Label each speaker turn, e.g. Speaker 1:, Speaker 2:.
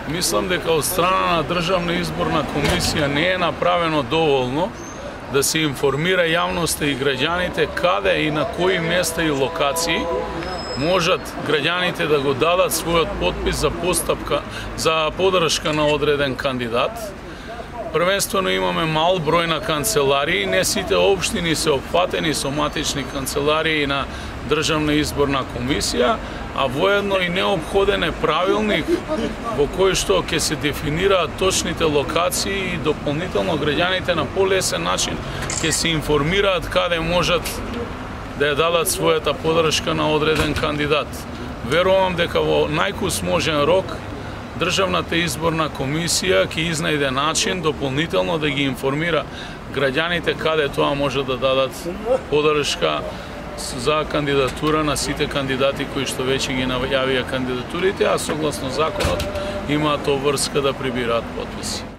Speaker 1: Мислам дека од страна на Државна изборна комисија не е направено доволно да се информира јавноста и граѓаните каде и на кои места и локации можат граѓаните да го дадат својот потпис за постапка за поддршка на одреден кандидат. Првенствено имаме мал број на канцеларии, не сите општини се опфатени со матични канцеларии на Државна изборна комисија, а воедно и неопходен е правилник во кој што ќе се дефинираат точните локации и дополнително граѓаните на полесен начин ќе се информираат каде можат да ја дадат својата поддршка на одреден кандидат. Верувам дека во најкусможен рок Државната изборна комисија ќе изнајде начин дополнително да ги информира граѓаните каде тоа може да дадат поддршка за кандидатура на сите кандидати кои што веќе ги најавија кандидатурите, а согласно законот имаат обврска да прибираат потписи.